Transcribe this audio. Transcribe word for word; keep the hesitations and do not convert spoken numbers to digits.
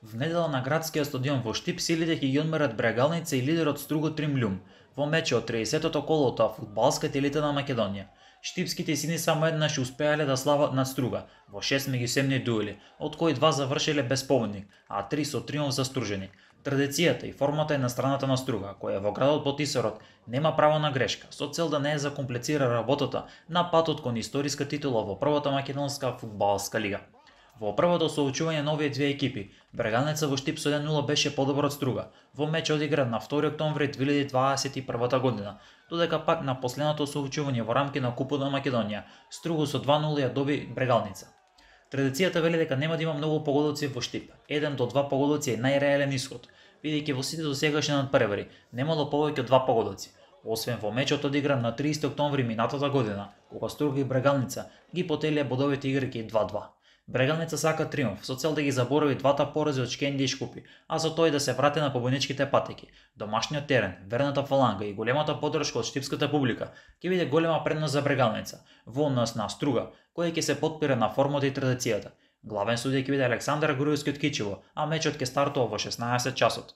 В недела на градскиот стадион во Штип силите ќе ги одмерат Брегалница и лидерот Струго Тримљум во мечот од триесеттото колото на фудбалската елита на Македонија. Штипските сини само еднаш успеале да слават над Струга во шест меѓусемни дуели, од кои два завршиле без победник, а три со триумф застружени. Традицијата и формата е на страната на Струга, која во градот Ботисарот нема право на грешка, со цел да не ја закомплицира работата на патот кон историска титула во првата македонска фудбалска лига. Во првото соочување на овие две екипи, Брегалница во Штип со еден нула беше подобар од Струга, во меч одигран на втори октомври две илјади дваесет и прва година, додека пак на последното соочување во рамки на Купот на Македонија, Струго со два нула ја доби Брегалница. Традицијата вели дека нема да има многу погодоци во Штип, еден до два погодоци е најреален исход, бидејќи во сите досегашни надпревари немало повеќе од два погодоци, освен во мечот одигран на триесети октомври минатата година, кога Струга и Брегалница ги потелија бодовите играјќи два-два. Брегалница сака триумф со цел да ги заборави двата порази од Шкенди и Шкупи, а со тој да се врати на победничките патеки. Домашниот терен, верната фаланга и големата поддршка од штипската публика ќе биде голема предност за Брегалница, во однос на Струга, кој ќе се потпира на формата и традицијата. Главен судија ќе биде Александар Груевски од Кичево, а мечот ќе стартува во шеснаесет часот.